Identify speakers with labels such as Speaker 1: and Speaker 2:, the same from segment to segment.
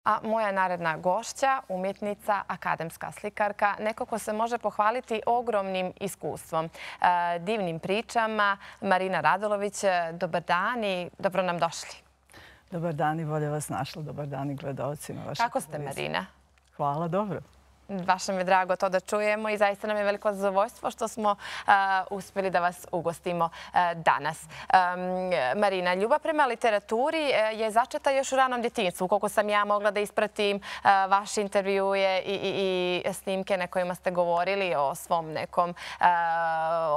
Speaker 1: A moja naredna gošća, umjetnica, akademska slikarka, neko ko se može pohvaliti ogromnim iskustvom, divnim pričama. Marina Radulović, dobar dan i dobro nam došli.
Speaker 2: Dobar dan i bolje vas našla. Dobar dan i gledalcima.
Speaker 1: Kako ste, Marina?
Speaker 2: Hvala, dobro.
Speaker 1: Baš nam je drago to da čujemo i zaista nam je veliko zadovoljstvo što smo uspjeli da vas ugostimo danas. Marina, ljubav prema literaturi je začeta još u ranom djetinjstvu. Koliko sam ja mogla da ispratim vaše intervjue i snimke na kojima ste govorili o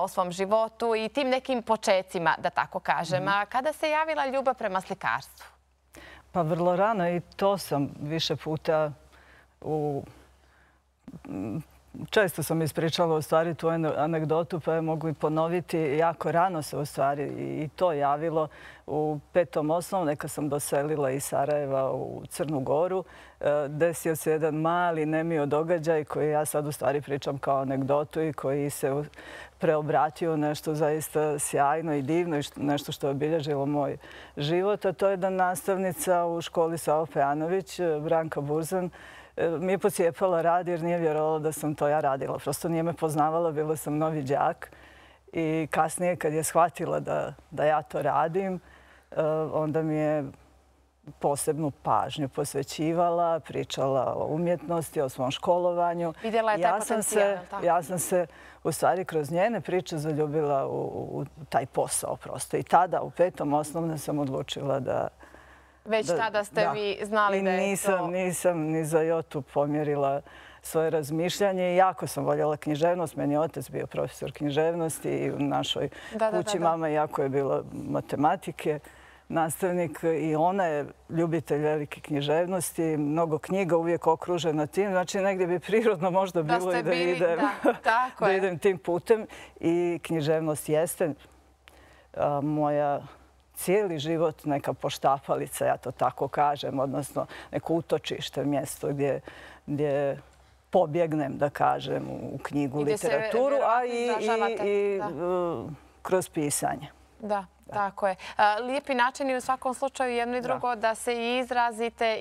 Speaker 1: svom životu i tim nekim počecima, da tako kažem. A kada se javila ljubav prema slikarstvu?
Speaker 2: Pa vrlo rano i to sam više puta često sam ispričala u stvari tu anegdotu, pa je mogu i ponoviti. Jako rano se u stvari i to javilo. U 5. osnovne, kad sam doselila iz Sarajeva u Crnu Goru, desio se jedan mali nemio događaj koji ja sad u stvari pričam kao anegdotu i koji se preobratio nešto zaista sjajno i divno i nešto što je obilježilo moj život. A to je da nastavnica u školi Savo Pejanović, Branka Burzan, mi je pocijepala rad jer nije vjerovala da sam to ja radila. Prosto nije me poznavala, bila sam novi đak. I kasnije kad je shvatila da ja to radim, onda mi je posebnu pažnju posvećivala, pričala o umjetnosti, o svom školovanju.
Speaker 1: Vidjela je taj potencijal.
Speaker 2: Ja sam se u stvari kroz njene priče zaljubila u taj posao prosto. I tada u 5. osnovne sam odlučila da...
Speaker 1: Već tada ste vi znali da je to...
Speaker 2: Nisam ni za jotu pomjerila svoje razmišljanje. Jako sam voljela književnost. Meni je otac bio profesor književnosti i u našoj kući mama jako je bila matematike, nastavnik i ona je ljubitelj velike književnosti. Mnogo knjiga, uvijek okružena tim. Znači negdje bi prirodno možda bilo i da idem tim putem. I književnost jeste moja cijeli život neka poštapalica, ja to tako kažem, odnosno neko utočište, mjesto gdje pobjegnem, da kažem, u knjigu, literaturu, a i kroz pisanje.
Speaker 1: Da, tako je. Lijepi način i u svakom slučaju jedno i drugo da se i izrazite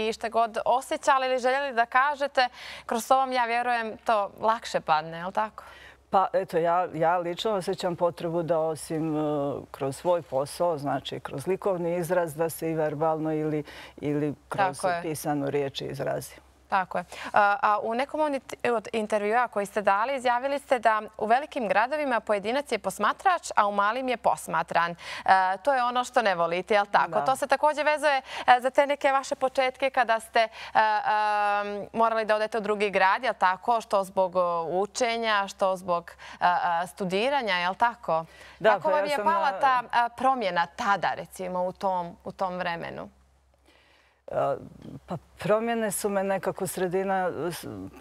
Speaker 1: i što god osjećali ili željeli da kažete. Kroz to vam, ja vjerujem, to lakše padne, je li tako?
Speaker 2: Pa eto, ja lično osjećam potrebu da osim kroz svoj posao, znači kroz likovni izraz, da se i verbalno ili kroz pisanu riječ izrazi.
Speaker 1: Tako je. A u nekom od intervjua koji ste dali izjavili ste da u velikim gradovima pojedinac je posmatrač, a u malim je posmatran. To je ono što ne volite, je li tako? To se također vezuje za te neke vaše početke kada ste morali da odete u drugi grad, je li tako? Što zbog učenja, što zbog studiranja, je li tako? Kako vam je pala ta promjena tada, recimo, u tom vremenu?
Speaker 2: Pa promjene su me nekako sredina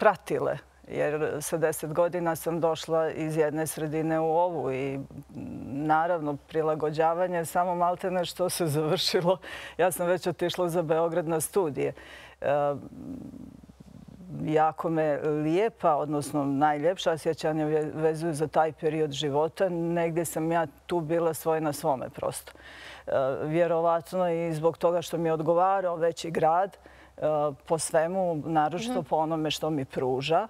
Speaker 2: pratile, jer sa 10 godina sam došla iz jedne sredine u ovu i naravno prilagođavanje samo maltene što se završilo. Ja sam već otišla za Beograd na studije. Jako me lijepa, odnosno najljepša sjećanja vezuju za taj period života. Negdje sam ja tu bila svoje na svome prosto. Vjerovatno i zbog toga što mi je odgovarao veći grad po svemu, naročito po onome što mi pruža,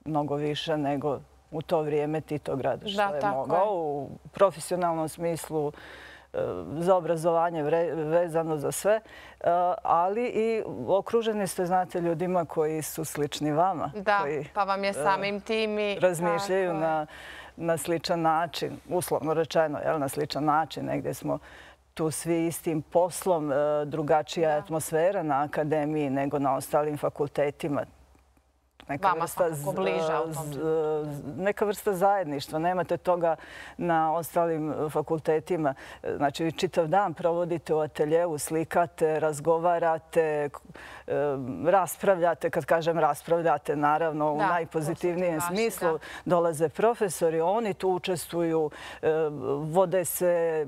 Speaker 2: mnogo više nego u to vrijeme Titograd što je mogao. U profesionalnom smislu, za obrazovanje vezano za sve, ali i okruženi ste, znate, ljudima koji su slični vama.
Speaker 1: Da, pa vam je samim tim i...
Speaker 2: Razmišljaju na sličan način, uslovno rečeno, na sličan način. Negdje smo tu svi istim poslom, drugačija atmosfera na akademiji nego na ostalim fakultetima.
Speaker 1: Vama svakako bliža u tom.
Speaker 2: Neka vrsta zajedništva. Nemate toga na ostalim fakultetima. Znači, vi čitav dan provodite u ateljeu, slikate, razgovarate, raspravljate. Kad kažem raspravljate, naravno, u najpozitivnijem smislu. Dolaze profesori, oni tu učestvuju, vode se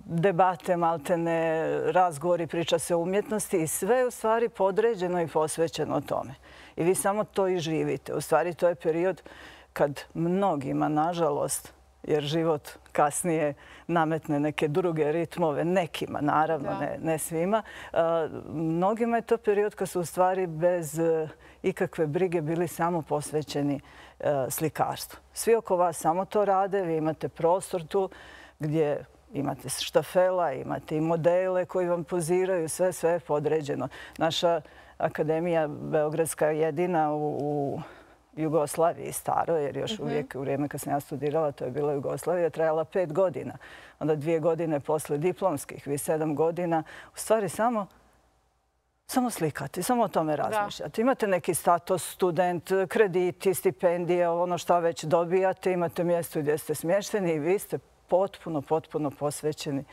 Speaker 2: debate, maltene, razgovori, priča se o umjetnosti i sve je u stvari podređeno i posvećeno tome. I vi samo to i živite. U stvari to je period kad mnogima, nažalost, jer život kasnije nametne neke druge ritmove, nekima naravno, ne svima. Mnogima je to period kad su u stvari bez ikakve brige bili samo posvećeni slikarstvu. Svi oko vas samo to rade, vi imate prostor tu gdje imate štafela, imate i modele koji vam poziraju, sve je podređeno. Naša akademija Beogradska je jedina u Jugoslaviji staro, jer još uvijek u vrijeme kad sam ja studirala, to je bila Jugoslavija, trajala 5 godina. Onda 2 godine posle diplomskih, vi 7 godina. U stvari samo slikati, samo o tome razmišljati. Imate neki status, student, krediti, stipendije, ono što već dobijate, imate mjesto gdje ste smješteni i vi ste potpuno posvećeni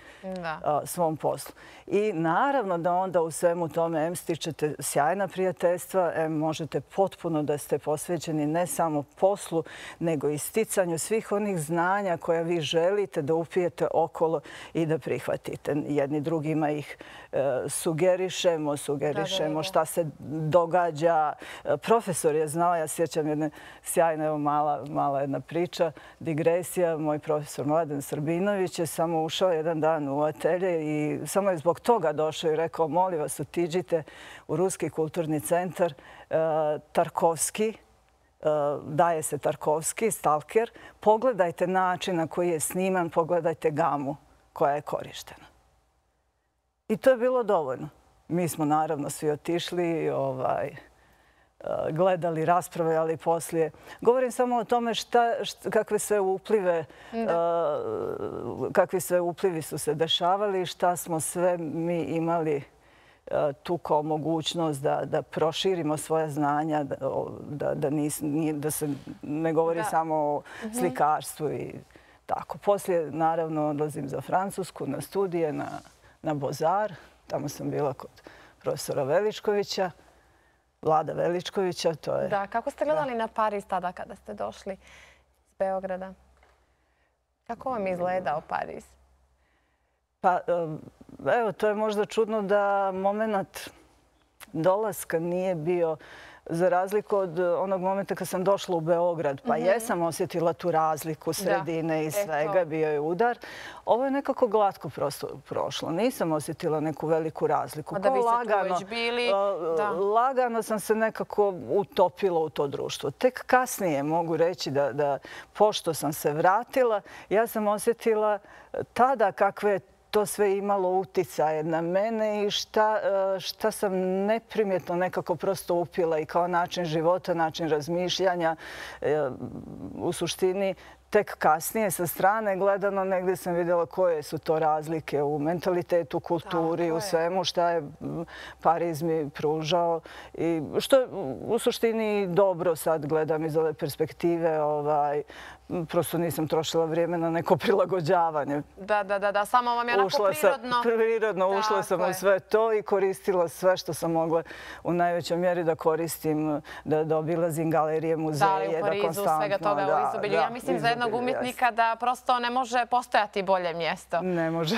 Speaker 2: svom poslu. I naravno da onda u svemu tome stičete sjajna prijateljstva, možete potpuno da ste posvećeni ne samo poslu, nego i sticanju svih onih znanja koja vi želite da upijete okolo i da prihvatite. Jedni drugima ih sugerišemo šta se događa. Profesor je znao, ja sjećam jedne sjajne, evo mala jedna priča, digresija, moj profesor Mladen Srbinović je samo ušao jedan dan u atelje i samo je zbog toga došao i rekao: molim vas, otiđite u Ruski kulturni centar Tarkovski, daje se Tarkovski, Stalker, pogledajte način na koji je sniman, pogledajte gamu koja je korištena. I to je bilo dovoljno. Mi smo naravno svi otišli, gledali, raspravljali poslije. Govorim samo o tome kakvi sve uplivi su se dešavali i šta smo sve mi imali tu kao mogućnost da proširimo svoja znanja, da se ne govori samo o slikarstvu i tako. Poslije, naravno, odlazim za Francusku na studije, na Bozar. Tamo sam bila kod profesora Veličkovića, Vlada Veličkovića.
Speaker 1: Da, kako ste gledali na Pariz tada kada ste došli iz Beograda? Kako vam je izgledao Pariz?
Speaker 2: Pa, evo, to je možda čudno da moment dolaska nije bio, za razliku od onog momenta kad sam došla u Beograd, pa jesam osjetila tu razliku sredine i svega, bio je udar. Ovo je nekako glatko prošlo. Nisam osjetila neku veliku razliku.
Speaker 1: Da vi ste tu već bili.
Speaker 2: Lagano sam se nekako utopila u to društvo. Tek kasnije mogu reći da pošto sam se vratila, ja sam osjetila tada kakve to sve imalo uticaje na mene i šta sam neprimjetno nekako prosto upila i kao način života, način razmišljanja. U suštini, tek kasnije sa strane gledano negdje sam vidjela koje su to razlike u mentalitetu, kulturi, u svemu šta je Pariz mi pružao. I što je u suštini dobro sad gledam iz ove perspektive. Prosto nisam trošila vrijeme na neko prilagođavanje.
Speaker 1: Da, samo vam je onako prirodno.
Speaker 2: Prirodno ušla sam u sve to i koristila sve što sam mogla u najvećoj mjeri da koristim, da obilazim galerije, muzeje, da konstantno.
Speaker 1: Da, li u Parizu, svega toga u izobilju. Ja mislim za jednog umjetnika da prosto ne može postojati bolje mjesto.
Speaker 2: Ne može.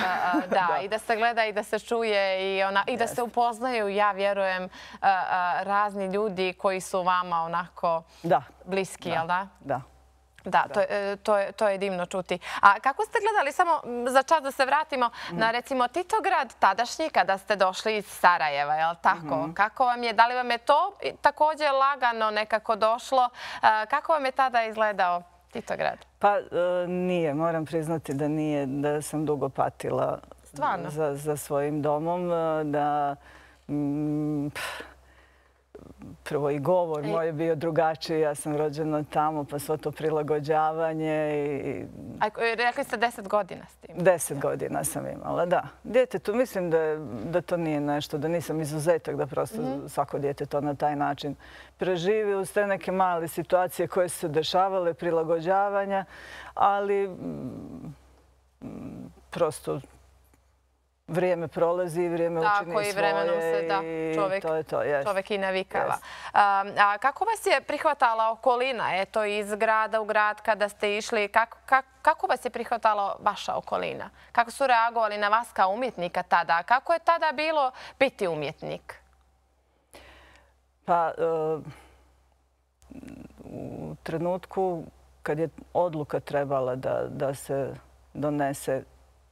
Speaker 1: Da, i da se gleda i da se čuje i da se upoznaju, ja vjerujem, razni ljudi koji su vama onako bliski, jel da?
Speaker 2: Da.
Speaker 1: Da, to je divno čuti. A kako ste gledali, samo za čas da se vratimo na recimo Titograd tadašnji kada ste došli iz Sarajeva, je li tako? Kako vam je, da li vam je to također lagano nekako došlo? Kako vam je tada izgledao Titograd?
Speaker 2: Pa nije, moram priznati da nije, da sam dugo patila za svojim domom, da prvo i govor moj je bio drugačiji, ja sam rođena tamo, pa svo to prilagođavanje.
Speaker 1: Rekli ste 10 godina s tim?
Speaker 2: 10 godina sam imala, da. Djetetu, mislim da to nije nešto, da nisam izuzetak, da prosto svako dijete to na taj način preživi uz te neke male situacije koje su se dešavale, prilagođavanja, ali prosto vrijeme prolazi i vrijeme učini svoje.
Speaker 1: Tako i vremenom se čovjek i navikava. Kako vas je prihvatala okolina? Eto, iz grada u grad kada ste išli, kako vas je prihvatala vaša okolina? Kako su reagovali na vas kao umjetnika tada? Kako je tada bilo biti umjetnik?
Speaker 2: Pa, u trenutku kad je odluka trebala da se donese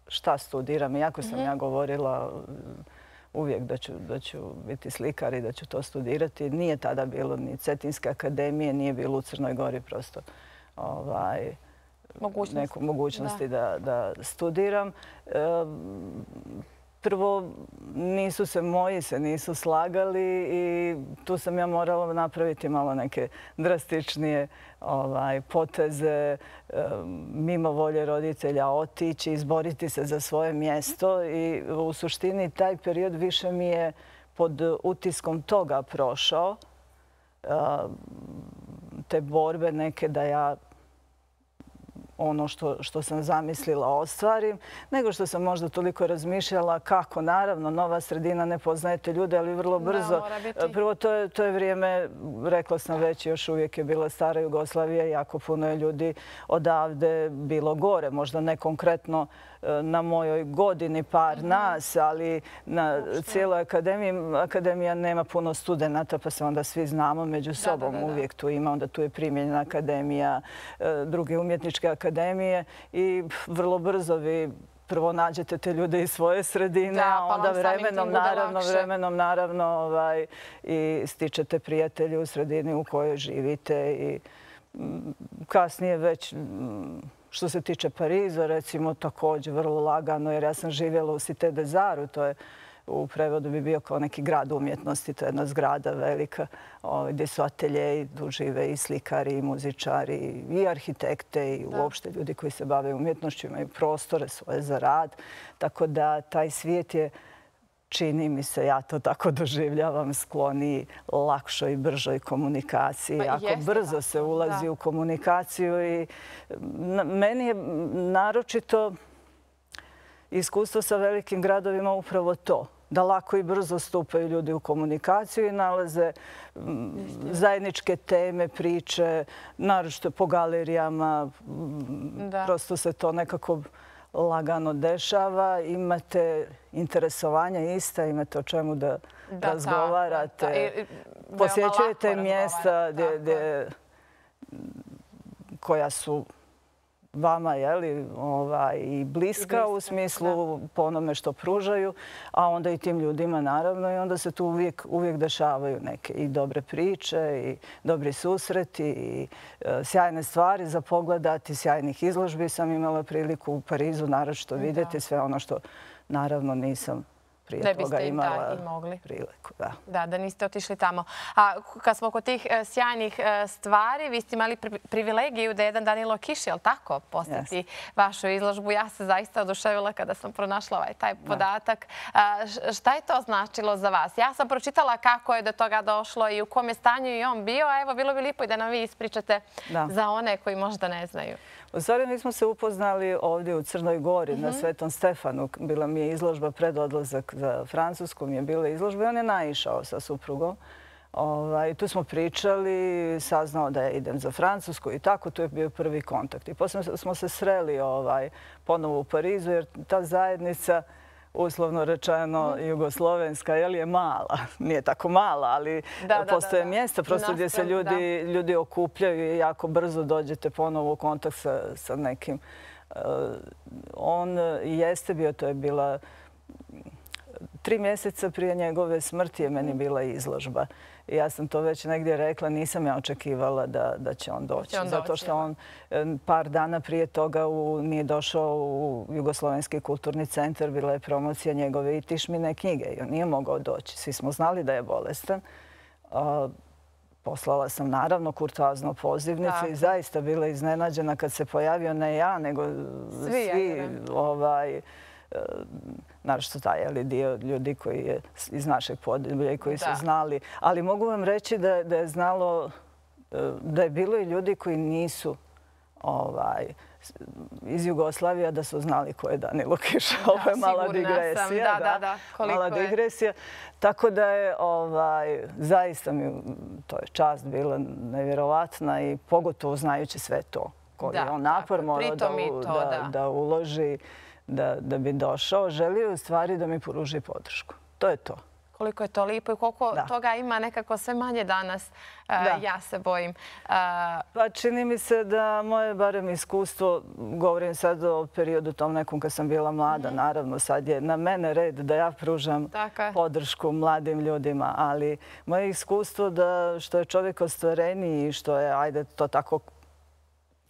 Speaker 2: šta studiram, iako sam ja govorila uvijek da ću biti slikar i da ću to studirati, nije tada bilo ni Cetinske akademije, nije bilo u Crnoj Gori prosto neku mogućnosti da studiram. Prvo, moji se nisu slagali i tu sam ja morala napraviti malo neke drastičnije poteze, mimo volje roditelja otići, izboriti se za svoje mjesto i u suštini taj period više mi je pod utiskom toga prošao, te borbe neke da ja ono što sam zamislila ostvarim, nego što sam možda toliko razmišljala kako, naravno, nova sredina, ne poznajete ljude, ali vrlo brzo. Prvo, to je vrijeme, rekla sam već, još uvijek je bila stara Jugoslavija, jako puno je ljudi odavde bilo gore, možda ne konkretno na mojoj godini par nas, ali na cijeloj akademiji. Akademija nema puno studenata, pa se onda svi znamo među sobom. Uvijek tu ima, onda tu je Primjenjena akademija, druge umjetničke akademije i vrlo brzo vi prvo nađete te ljude iz svoje sredine, a onda vremenom naravno i stičete prijatelje u sredini u kojoj živite i kasnije već što se tiče Pariza, recimo, također vrlo lagano, jer ja sam živjela u Cité des Arts, to je u prevodu bi bio kao neki grad umjetnosti, to je jedna zgrada velika gdje su ateljeji, tu žive i slikari, i muzičari, i arhitekte, i uopšte ljudi koji se bave umjetnošću, imaju prostore svoje za rad. Tako da taj svijet je, čini mi se, ja to tako doživljavam, skloniji lakšoj i bržoj komunikaciji. Jako brzo se ulazi u komunikaciju i meni je naročito iskustvo sa velikim gradovima upravo to. Da lako i brzo stupaju ljudi u komunikaciju i nalaze zajedničke teme, priče, naročito po galerijama. Prosto se to nekako lagano dešava. Imate interesovanja ista, imate o čemu da razgovarate. Posjećujete mjesta koja su vama i bliska u smislu po onome što pružaju, a onda i tim ljudima naravno i onda se tu uvijek dešavaju neke i dobre priče i dobri susreti i sjajne stvari za pogledati, sjajnih izložbi sam imala priliku u Parizu naročito vidjeti sve ono što naravno nisam prije toga imala priliku.
Speaker 1: Da niste otišli tamo. A kad smo kod tih sjajnih stvari, vi ste imali privilegiju da jedan Danilo Kiš, jel tako, posjeti vašu izložbu. Ja se zaista oduševila kada sam pronašla taj podatak. Šta je to značilo za vas? Ja sam pročitala kako je do toga došlo i u kom je stanju i on bio. Evo, bilo bi lijepo i da nam vi ispričate za one koji možda ne znaju.
Speaker 2: U stvari, mi smo se upoznali ovdje u Crnoj Gori na Svetom Stefanu. Bila mi je izložba pred odlazak za Francusku, mi je bila izložba i on je naišao sa suprugom. Tu smo pričali, saznao da ja idem za Francusku i tako, to je bio prvi kontakt. I poslije smo se sreli ponovo u Parizu jer ta zajednica, uslovno rečeno jugoslovenska, je mala. Nije tako mala, ali postoje mjesta prosto gdje se ljudi okupljaju i jako brzo dođete ponovo u kontakt sa nekim. On jeste bio, to je bila 3 mjeseca prije njegove smrti je meni bila izložba. I ja sam to već negdje rekla, nisam ja očekivala da će on doći. Zato što on par dana prije toga nije došao u Jugoslovenski kulturni centar, bila je promocija njegove i Tišmine knjige i on nije mogao doći. Svi smo znali da je bolestan. Poslala sam naravno kurtoazno pozivnicu i zaista bila iznenađena kad se pojavio ne ja, nego svi naravno taj dio ljudi koji je iz našeg podneblja i koji su znali. Ali mogu vam reći da je znalo, da je bilo i ljudi koji nisu iz Jugoslavije, da su znali ko je Danilo Kiš. Ovo je mala digresija. Mala digresija. Tako da je zaista mi to je čast bila nevjerovatna i pogotovo znajući sve to. Koji je on napor morao da uloži da bi došao, želio u stvari da mi pruži podršku. To je to.
Speaker 1: koliko je to lijepo i koliko toga ima nekako sve manje danas. Ja se bojim.
Speaker 2: Pa čini mi se da moje barem iskustvo, govorim sad o periodu tom nekom kad sam bila mlada, naravno sad je na mene red da ja pružam podršku mladim ljudima, ali moje iskustvo da što je čovjek ostvareniji i što je, ajde to tako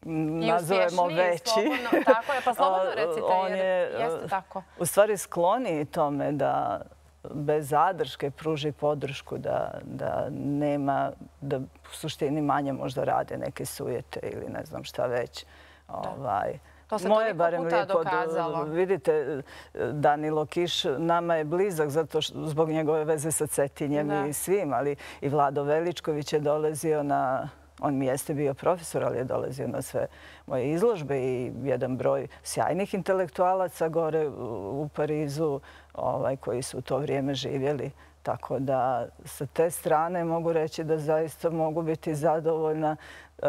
Speaker 2: nazovemo veći,
Speaker 1: tako je, pa slobodno recite, jer jeste tako.
Speaker 2: U stvari skloniji tome da bez zadrške pruži podršku, da nema, da u suštini manje možda rade neke sujete ili ne znam šta već.
Speaker 1: To se toliko puta dokazalo.
Speaker 2: Vidite, Danilo Kiš nama je blizak zbog njegove veze sa Cetinjem i svim, ali i Vlado Veličković je dolazio na... On mi jeste bio profesor, ali je dolazio na sve moje izložbe i jedan broj sjajnih intelektualaca gore u Parizu koji su u to vrijeme živjeli. Tako da sa te strane mogu reći da zaista mogu biti zadovoljna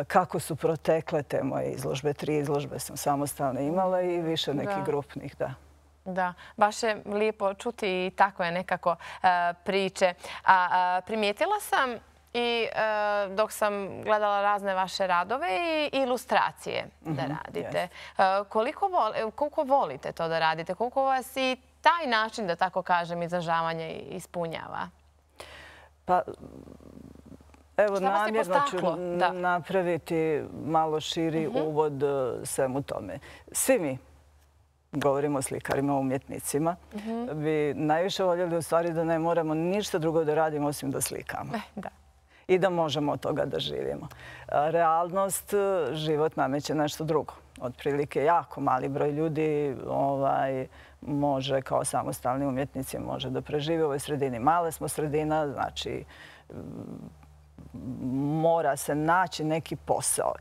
Speaker 2: kako su protekle te moje izložbe. 3 izložbe sam samostalno imala i više nekih grupnih, da.
Speaker 1: Da, baš je lijepo čuti i tako je nekako priče. Primijetila sam i dok sam gledala razne vaše radove i ilustracije da radite. Koliko volite to da radite? Koliko vas i taj način, da tako kažem, izražavanja ispunjava?
Speaker 2: Pa, evo, namjerno ću napraviti malo širi uvod svemu tome. Svi mi, govorimo o slikarima, umjetnicima, bi najviše voljeli u stvari da ne moramo ništa drugo da radimo osim da slikamo.
Speaker 1: Da.
Speaker 2: I da možemo od toga da živimo. Realnost, život nameće nešto drugo. Otprilike jako mali broj ljudi može kao samostalni umjetnici može da preživi u ovoj sredini. Male smo sredina, znači mora se naći neki posao,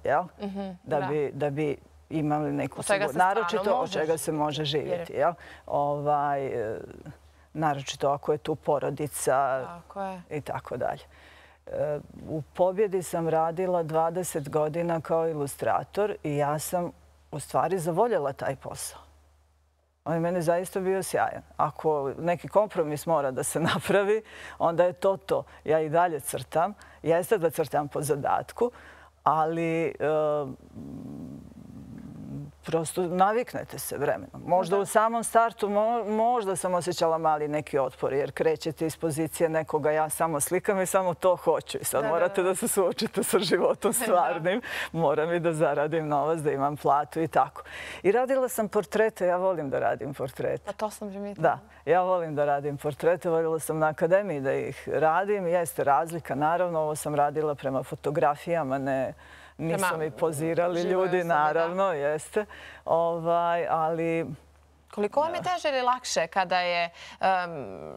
Speaker 2: da bi imali neku sigurnost. Naročito od čega se može živjeti. Naročito ako je tu porodica i tako dalje. U Pobjedi sam radila 20 godina kao ilustrator i ja sam u stvari zavoljela taj posao. On je meni zaista bio sjajan. Ako neki kompromis mora da se napravi, onda je to to. Ja i dalje crtam. Jeste da crtam po zadatku, ali prosto naviknete se vremenom. Možda u samom startu možda sam osjećala mali neki otpor jer krećete iz pozicije nekoga ja samo slikam i samo to hoću. I sad morate da se suočite sa životom stvarnim. Moram i da zaradim novac, da imam platu i tako. I radila sam portrete. Ja volim da radim portrete.
Speaker 1: Pa to sam primijetila.
Speaker 2: Da, ja volim da radim portrete. Voljela sam na akademiji da ih radim. Jeste razlika, naravno. Ovo sam radila prema fotografijama, ne... Nisu mi pozirali ljudi, naravno, jeste. Ali...
Speaker 1: Koliko vam je teže ili lakše kada je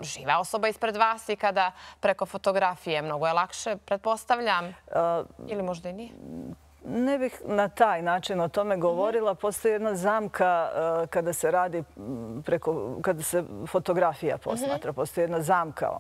Speaker 1: živa osoba ispred vas i kada preko fotografije? Mnogo je lakše, pretpostavljam. Ili možda i nije?
Speaker 2: Ne bih na taj način o tome govorila. Postoji jedna zamka kada se radi kada se fotografija posmatra. Postoji jedna zamka,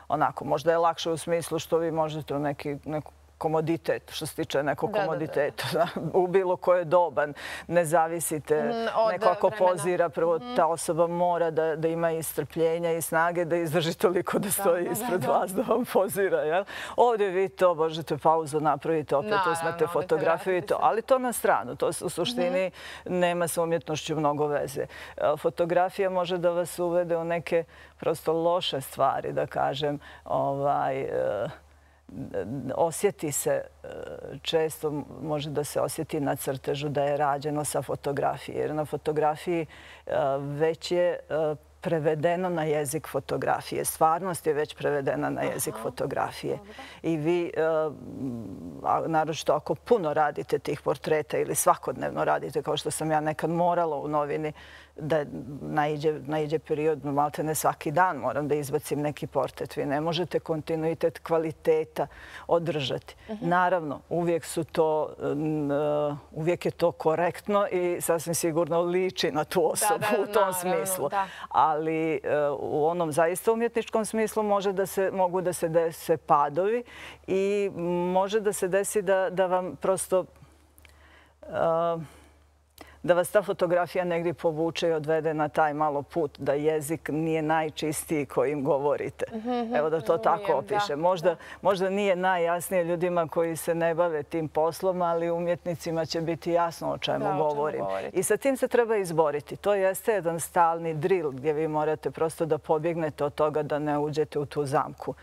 Speaker 2: onako, možda je lakše u smislu što vi možete u neku komoditet, što se tiče nekog komoditeta. U bilo koje doban ne zavisite. Neko ako pozira, prvo ta osoba mora da ima i strpljenja i snage da izdrži toliko da stoji ispred vas da vam pozira. Ovdje vi to možete pauzu napraviti, opet uzmete fotografiju i to. Ali to na stranu. To u suštini nema sa umjetnošću mnogo veze. Fotografija može da vas uvede u neke prosto loše stvari, da kažem, osjeti se, često može da se osjeti na crtežu da je rađeno sa fotografije. Jer na fotografiji već je prevedeno na jezik fotografije. Stvarnost je već prevedena na jezik fotografije. I vi, naročito ako puno radite tih portreta ili svakodnevno radite, kao što sam ja nekad morala u novini, da naiđe period, malte ne svaki dan moram da izbacim neki portret. Vi ne možete kontinuitet kvaliteta održati. Naravno, uvijek je to korektno i sasvim sigurno liči na tu osobu u tom smislu. Ali u onom zaista umjetničkom smislu mogu da se dese padovi i može da se desi da vam prosto da vas ta fotografija negdje povuče i odvede na taj malo put, da jezik nije najčistiji kojim govorite. Evo da to tako opiše. Možda nije najjasnije ljudima koji se ne bave tim poslom, ali umjetnicima će biti jasno o čemu govorim. I sa tim se treba izboriti. To jeste jedan stalni drill gdje vi morate prosto da pobjegnete od toga da ne uđete u tu zamku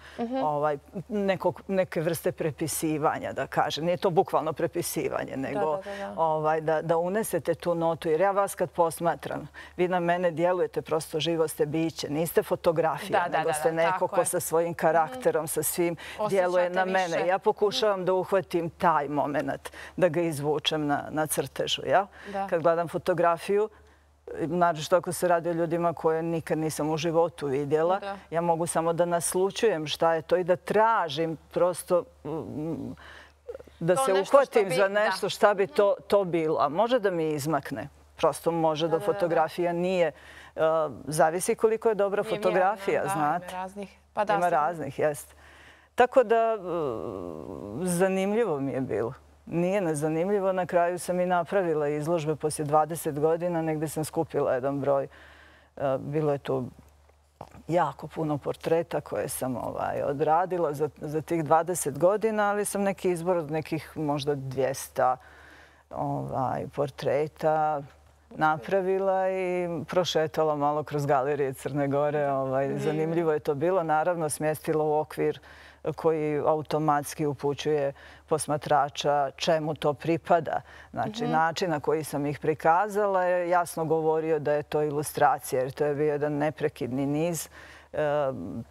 Speaker 2: neke vrste prepisivanja, da kažem. Nije to bukvalno prepisivanje, nego da unesete tu notu. Jer ja vas kad posmatram, vi na mene djelujete, prosto živo ste biće. Niste fotografija, nego ste neko ko sa svojim karakterom, sa svim djeluje na mene. Ja pokušavam da uhvatim taj moment, da ga izvučem na crtežu. Kad gledam fotografiju, naročito ako se radi o ljudima koje nikad nisam u životu vidjela, ja mogu samo da naslučujem šta je to i da tražim prosto da se uhvatim za nešto šta bi to bilo. A može da mi izmakne. Prosto može da fotografija nije. Zavisi koliko je dobra fotografija, znate. Ima raznih, jeste. Tako da zanimljivo mi je bilo. Nije nezanimljivo. Na kraju sam i napravila izložbe poslije 20 godina. Negdje sam skupila jedan broj. Bilo je tu jako puno portreta koje sam odradila za tih 20 godina, ali sam neki izbor od nekih možda 200 portreta napravila i prošetala malo kroz galerije Crne Gore. Zanimljivo je to bilo. Naravno, smjestila u okvir koji automatski upućuje posmatrača čemu to pripada. Znači, način na koji sam ih prikazala je jasno govorio da je to ilustracija, jer to je bio jedan neprekidni niz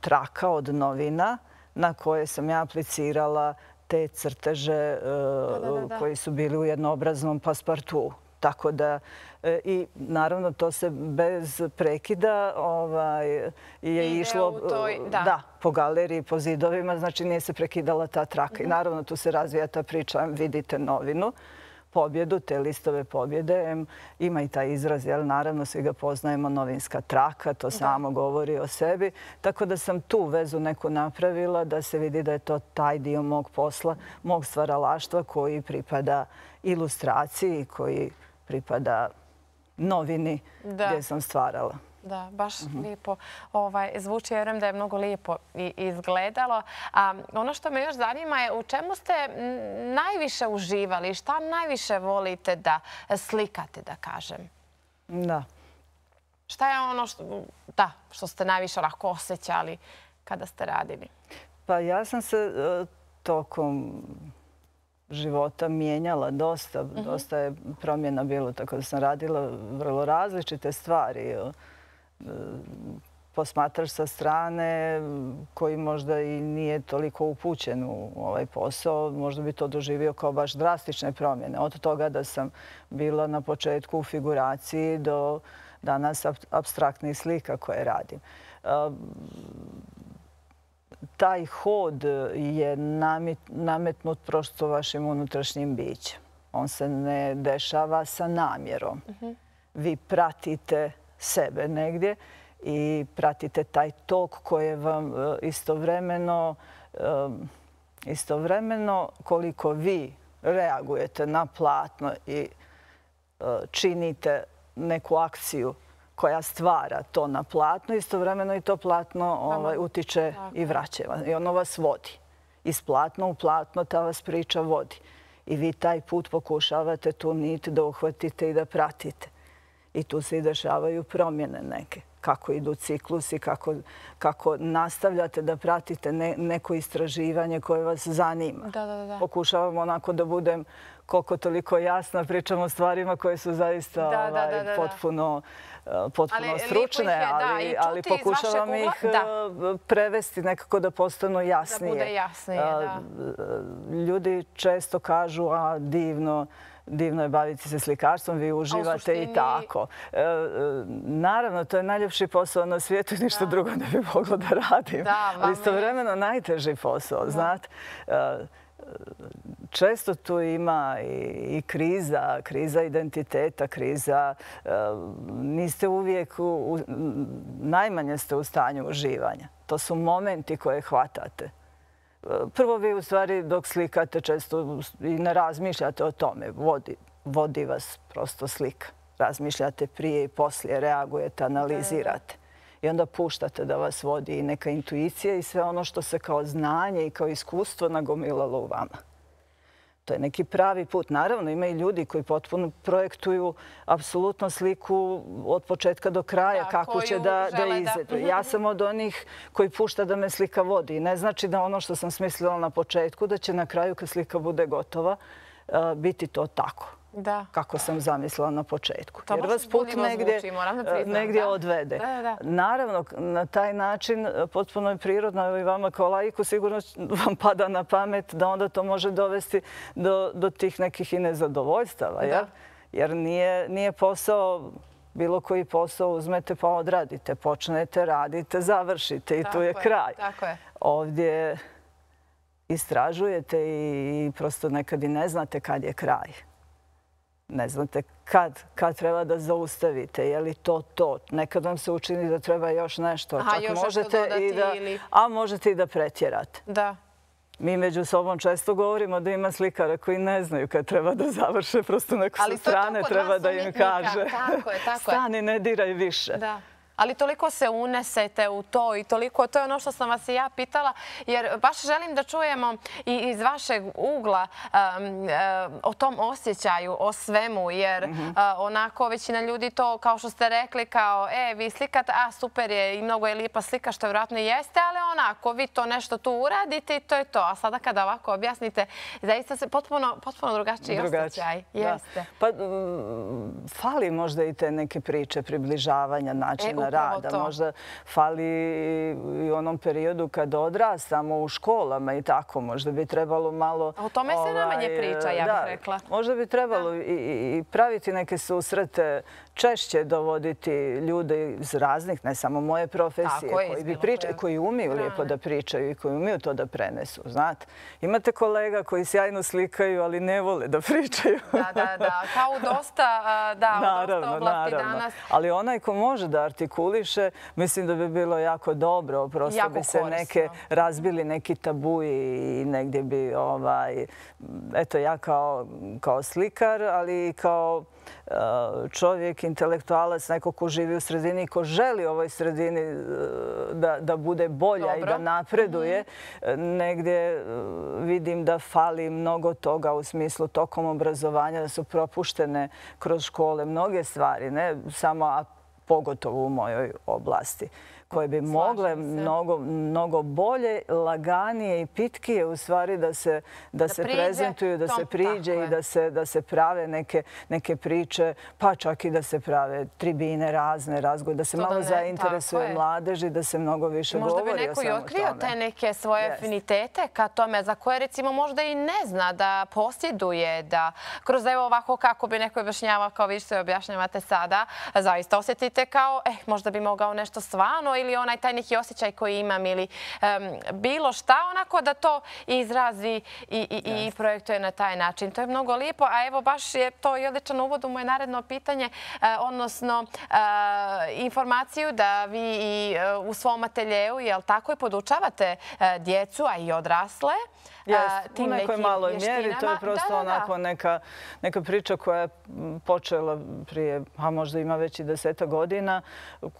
Speaker 2: traka od novina na koje sam ja aplicirala te crteže koji su bili u jednoobraznom paspartu. Tako da, i naravno to se bez prekida je išlo po galeriji, po zidovima, znači nije se prekidala ta traka. I naravno tu se razvija ta priča, vidite novinu, pobjedu, te listove pobjede. Ima i taj izraz, jer naravno svi ga poznajemo, novinska traka, to samo govori o sebi. Tako da sam tu vezu neku napravila da se vidi da je to taj dio mog posla, mog stvaralaštva koji pripada ilustraciji, koji pripada novini gdje sam stvarala.
Speaker 1: Da, baš lijepo zvuči. Ja vjerujem da je mnogo lijepo izgledalo. Ono što me još zanima je u čemu ste najviše uživali? Šta najviše volite da slikate, da kažem?
Speaker 2: Da.
Speaker 1: Šta je ono što ste najviše onako osjećali kada ste radili?
Speaker 2: Pa ja sam se tokom života mijenjala dosta. Dosta je promjena bilo, tako da sam radila vrlo različite stvari. Posmatrač sa strane koji možda i nije toliko upućen u ovaj posao, možda bi to doživio kao baš drastične promjene. Od toga da sam bila na početku u figuraciji do danas apstraktnih slika koje radim. Taj hod je nametnut prosto vašim unutrašnjim bićem. On se ne dešava sa namjerom. Vi pratite sebe negdje i pratite taj tok koji vam istovremeno koliko vi reagujete na platno i činite neku akciju koja stvara to na platno, istovremeno i to platno utiče i vraća. I ono vas vodi. Iz platna u platno ta vas priča vodi. I vi taj put pokušavate tu nit da uhvatite i da pratite. I tu se i dešavaju promjene neke. Kako idu ciklusi, kako nastavljate da pratite neko istraživanje koje vas zanima. Pokušavam onako da budem koliko toliko jasna, pričam o stvarima koje su zaista potpuno stručne, ali pokušavam ih prevesti nekako da postanu jasnije.
Speaker 1: Da bude jasnije, da.
Speaker 2: Ljudi često kažu, divno je baviti se slikarstvom, vi uživate i tako. Naravno, to je najljepši posao na svijetu i ništa drugo ne bi moglo da radim. Ali istovremeno najteži posao, znate. Često tu ima i kriza identiteta, kriza. Niste uvijek, najmanje ste u stanju uživanja. To su momenti koje hvatate. Prvo vi u stvari dok slikate često i ne razmišljate o tome. Vodi vas prosto slika. razmišljate prije i poslije, reagujete, analizirate. I onda puštate da vas vodi i neka intuicija i sve ono što se kao znanje i kao iskustvo nagomilalo u vama. To je neki pravi put. Naravno, ima i ljudi koji potpuno projektuju apsolutno sliku od početka do kraja, kako će da izvedu. Ja sam od onih koji pušta da me slika vodi. I ne znači da ono što sam smislila na početku, da će na kraju kad slika bude gotova, biti to tako. Kako sam zamislila na početku. Jer vas put negdje odvede. Naravno, na taj način potpuno je prirodno, evo i vama kao laiku sigurno vam pada na pamet da onda to može dovesti do tih nekih i nezadovoljstava. Jer nije posao, bilo koji posao uzmete pa odradite, počnete, radite, završite i tu je kraj. Ovdje istražujete i prosto nekad i ne znate kad je kraj. Ne znate kad treba da zaustavite, je li to to. Nekad vam se učini da treba još nešto. A možete i da pretjerate. Mi među sobom često govorimo da ima slikara koji ne znaju kad treba da završe. Prosto neko sa strane treba da im kaže stani, ne diraj više.
Speaker 1: Ali toliko se unesete u to i toliko, to je ono što sam vas i ja pitala, jer baš želim da čujemo i iz vašeg ugla o tom osjećaju, o svemu, jer onako većina ljudi to, kao što ste rekli, kao vi slikate, super je i mnogo je lijepa slika, što vjerojatno i jeste, ali onako vi to nešto tu uradite i to je to. A sada kada ovako objasnite, zaista se potpuno drugačiji osjećaj.
Speaker 2: Pa fali možda i te neke priče, približavanja, načina rada. Možda fali i u onom periodu kad odrastamo u školama i tako. Možda bi trebalo malo...
Speaker 1: O tome se najmanje priča, ja bih rekla.
Speaker 2: Možda bi trebalo i praviti neke susrete, češće dovoditi ljude iz raznih, ne samo moje profesije, koji umiju lijepo da pričaju i koji umiju to da prenesu. Znate, imate kolega koji sjajno slikaju, ali ne vole da pričaju.
Speaker 1: Da, kao u dosta oblasti danas.
Speaker 2: Ali onaj ko može da artikuliše, mislim da bi bilo jako dobro. Prosto bi se razbili neki tabu i negdje bi, eto ja kao slikar, ali i kao čovjek, intelektualac, neko ko živi u sredini i ko želi ovoj sredini da bude bolja i da napreduje, negdje vidim da fali mnogo toga u smislu tokom obrazovanja, da su propuštene kroz škole mnoge stvari, ne samo, a pogotovo u mojoj oblasti, koje bi mogle mnogo bolje, laganije i pitkije u stvari da se prezentuju, da se priđe i da se prave neke priče, pa čak i da se prave tribine, razne razgovore, da se malo zainteresuje mladeži, da se mnogo više govori o svemu tome.
Speaker 1: Možda bi neko i otkrio te neke svoje afinitete ka tome za koje recimo možda i ne zna da posjeduje, da kroz evo ovako kako bi neko objašnjavao kao vi što objašnjavate sada, zaista osjetite kao možda bi mogao nešto stvarno ili onaj taj neki osjećaj koji imam ili bilo šta, onako da to izrazi i projektuje na taj način. To je mnogo lijepo, a evo baš je to i odličan uvod u moje naredno pitanje, odnosno informaciju da vi i u svom ateljeu, jel tako, i podučavate djecu, a i odrasle,
Speaker 2: u nekoj maloj mjeri. To je prosto onako neka priča koja je počela prije, a možda ima već i 10 godina,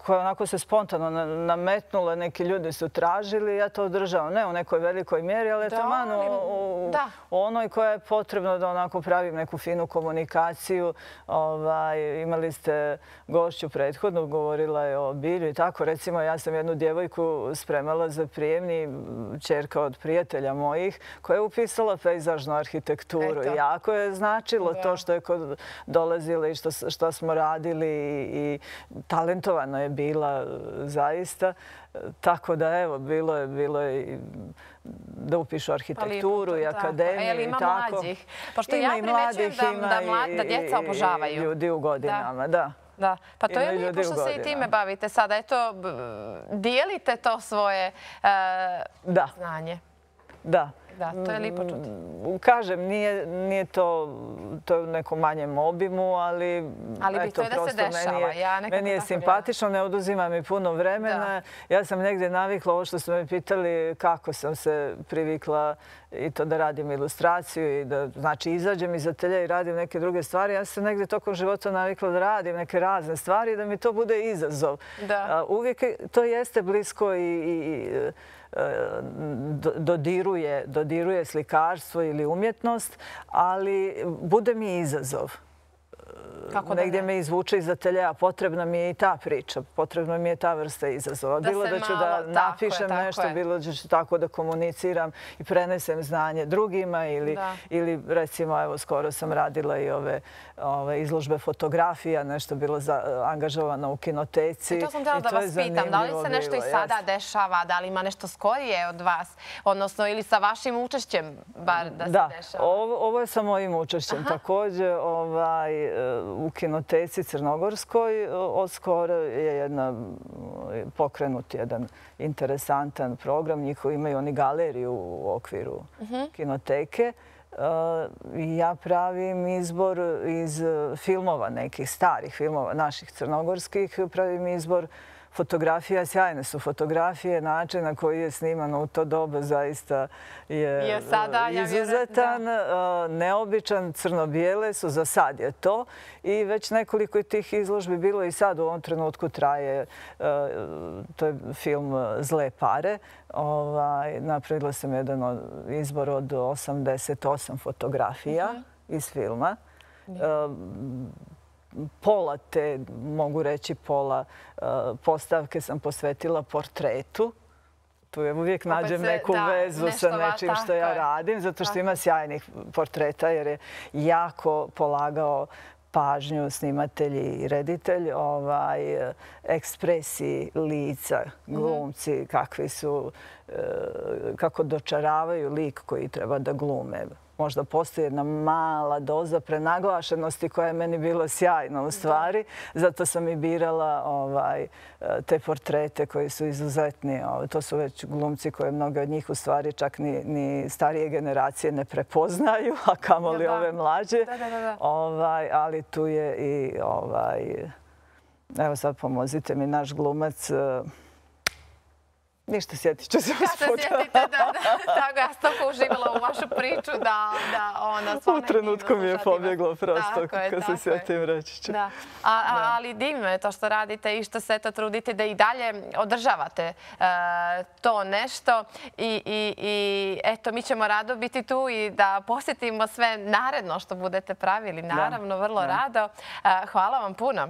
Speaker 2: koja onako se spontano nametnula, neki ljudi su tražili, ja to održavam. Ne u nekoj velikoj mjeri, ali je to u onoj koja je potrebno da onako pravim neku finu komunikaciju. Imali ste gošću prethodnu, govorila je o bilju i tako. Recimo, ja sam jednu djevojku spremala za prijemni, ćerka od prijatelja mojih, koja je upisala pejzažnu arhitekturu. Jako je značilo to što je dolazila i što smo radili i talentovano je bila zaista. Tako da, evo, bilo je da upišu arhitектuru i akademiju i tako.
Speaker 1: Ima mlađih. Pošto ja primećujem da djeca obožavaju.
Speaker 2: I ljudi u godinama, da.
Speaker 1: Da, pa to je lijepo što se i time bavite sada. Eto, dijelite to svoje znanje.
Speaker 2: Da.
Speaker 1: Da, to je lipo čuti.
Speaker 2: Kažem, nije to u nekom manjem obimu, ali
Speaker 1: bitno je da se dešava.
Speaker 2: Meni je simpatično, ne oduzima mi puno vremena. Ja sam negdje navikla, ovo što su me pitali, kako sam se privikla i to da radim ilustraciju i da, znači, izađem iz ateljeja i radim neke druge stvari. Ja sam negdje tokom života navikla da radim neke razne stvari i da mi to bude izazov. Uvijek to jeste blisko i dodiruje slikarstvo ili umjetnost, ali bude mi izazov. Negdje me izvuče iz ateljeja. Potrebna mi je i ta priča. Potrebna mi je ta vrsta izazova. Bilo da ću da napišem nešto, bilo da ću tako da komuniciram i prenesem znanje drugima ili recimo, evo, skoro sam radila i ove izložbe fotografija, nešto bilo angažovano u kinoteci.
Speaker 1: I to sam htjela da vas pitam. Da li se nešto i sada dešava? Da li ima nešto skorije od vas? Odnosno, ili sa vašim učešćem bar da se dešava?
Speaker 2: Da, ovo je sa mojim učešćem. Također, u kinoteci Crnogorskoj odskoro je pokrenut jedan interesantan program. Njihovi imaju oni galeriju u okviru kinoteke. Ja pravim izbor iz filmova, nekih starih filmova, naših crnogorskih. Pravim izbor fotografija. Sjajne su fotografije. Način na koji je snimano u to doba zaista je izuzetan, neobičan. Crno-bijele su, za sad je to. I već nekoliko tih izložbi bilo i sad u ovom trenutku traje. To je film Zle pare. Napravila sam jedan izbor od 88 fotografija iz filma. Pola te, mogu reći pola postavke sam posvetila portretu. Tu uvijek nađem neku vezu sa nečim što ja radim, zato što ima sjajnih portreta jer je jako polagao pažnju snimatelj i reditelj ekspresiji lica, glumci, kakvi su, kako dočaravaju lik koji treba da glume. Možda postoji jedna mala doza prenaglašenosti koja je meni bila sjajna u stvari. Zato sam i birala te portrete koji su izuzetni. To su već glumci koje mnoge od njih u stvari čak ni starije generacije ne prepoznaju, a kamoli ove mlađe. Ali tu je i, evo sad pomozite mi, naš glumac. Ništa, sjetit ću se vas puta.
Speaker 1: Kada sjetite, tako ja sam toliko uživala u vašu priču da
Speaker 2: u trenutku mi je pobjeglo prosto, kad se sjetim reći ću.
Speaker 1: Ali divno je to što radite i što se trudite da i dalje održavate to nešto. I eto, mi ćemo rado biti tu i da posjetimo sve naredno što budete pravili. Naravno, vrlo rado. Hvala vam puno.